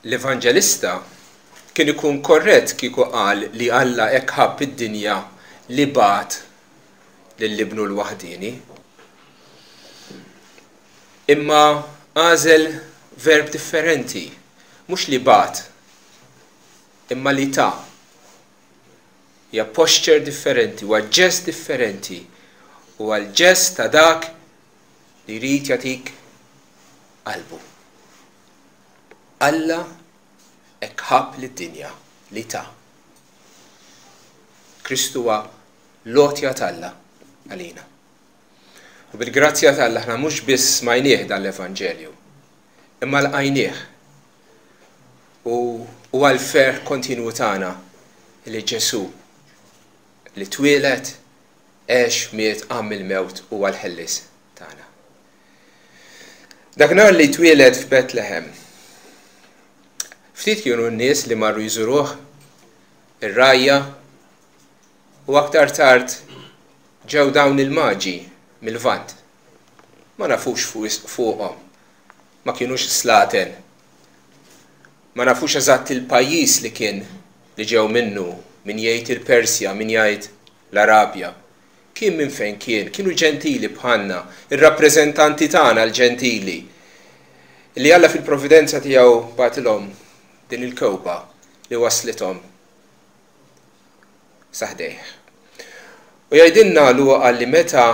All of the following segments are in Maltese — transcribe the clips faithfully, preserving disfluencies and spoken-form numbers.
L-Evanġelista kien ikun korrett kieku qal li Alla hekk ħabb id-dinja li bagħat lil ibnu l-waħdieni. Imma għażel verb differenti, mhux li bagħat, imma li ta. Hija posture differenti, huwa ġest differenti, huwa l-ġest ta' dak li jrid jagħtik qalbu. Alla hekk ħabb lid-dinja li ta. Kristu huwa l-għotja t'Alla għalina. U bil-grazzja t'Alla aħna mhux biss smajnieh dan l-Evanġelju, imma lqajnieh. U huwa l-ferħ kontinwu tagħna li Ġesù li twieled, għex, miet, qam mill-mewt huwa l-ħellies tagħna. Dak nhar li twieled f'Betlehem, ftit kienu n-nies li marru jżuruh, ir-rgħajja, u aktar tard ġew dawn il-maġi mill-Lvant. Ma nafux fuqhom, ma kienux slaten, ma nafux eżatt il-pajjiż li kien li ġew minnu, min jgħid il-Persja, min jgħid l-Arabja. Kien minn fejn kien, kienu ġentili bħalna, ir-rappreżentanti tagħna l-ġentili, li Alla fil-providenza tiegħu bagħtilhom din il-kewba li waslithom sa ħdejh. U jgħidilna Luqa li meta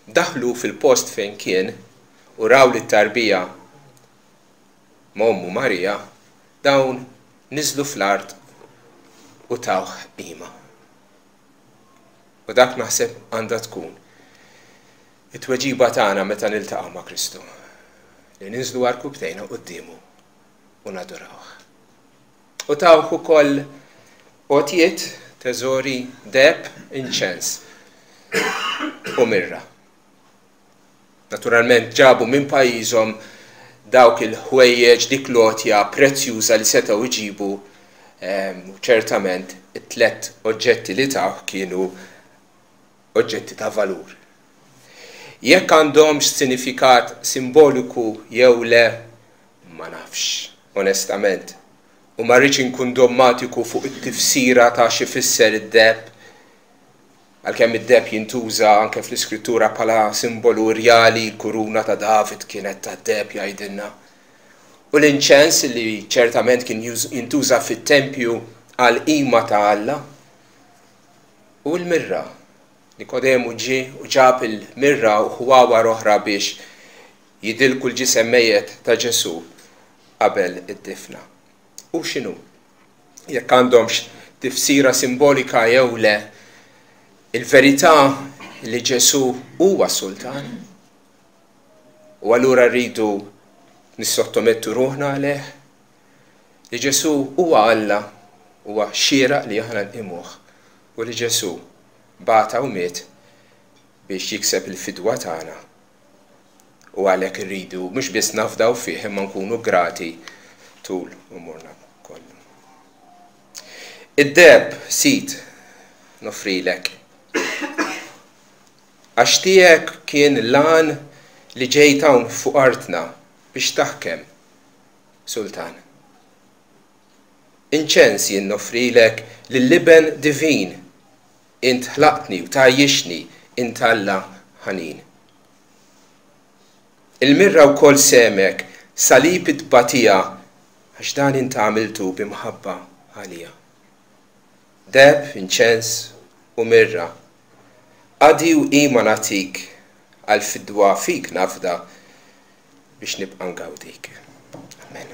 daħlu fil-post fejn kien u raw li t-tarbija ma' ommu Marija, dawn niżlu fl-art u tawh qima. U dak naħseb għandha tkun it-tweġiba tagħna meta niltaqgħu ma' Kristu, li ninżlu għarkupptejna quddiemu u nadurawh. U tawh ukoll għotjiet, teżori, deheb, inċens u mirra. Naturalment ġabu minn pajjiżhom dawk il-ħwejjeġ, dik l-għotja prezzjuża li setgħu jġibu, u ċertament it-tlet oġġetti li tawh kienu oġġetti ta' valur. Jekk għandhomx sinifikat simboliku jew le, ma nafx, onestament. U ma rridx inkun dommatiku fuq it-tifsira ta' xi fisser id-deheb, għalkemm id-deheb jintuża anke fl-iskrittura bħala simbolu rjali, l-kuruna ta' David kienet ta' deheb jgħidilna. U l-inċens li ċertament kien jintuża fit-tempju għal qima ta' Alla. U l-mirra, Nikodemu ġie u ġab il-mirra u ħwawar oħra biex jidilku l-ġisem mejjet ta' Ġesù qabel id-difna. U x'inhu? Jekk għandhomx tifsira simbolika jew le, il-verità li Ġesù huwa sultan. U allura rridu nissottomettu ruħna għalih, li Ġesù huwa Alla, huwa xieraq li aħna nqimuh, u li Ġesù bata u miet biex jikseb il-fidwa tagħna. U għalhekk irridu mhux biss nafdaw fih imma nkunu grati tul umurna kollu. Id-deheb Sid nofrilek. Għax tiegħek kien l-għan li ġejt hawn fuq artna biex taħkem, Sultan. Inċens jien nofrilek lill-Iben divin, int ħlaqtni u tgħajjixni, int Alla ħanin. Il-mirra wkoll semek, salib it-tbatija, għax dan int għamiltu b'imħabba għalija. Deheb, inċens u mirra, qadi u qima nagħtik, għal fidwa fik nafda biex nibqa' ngawdik. Amen.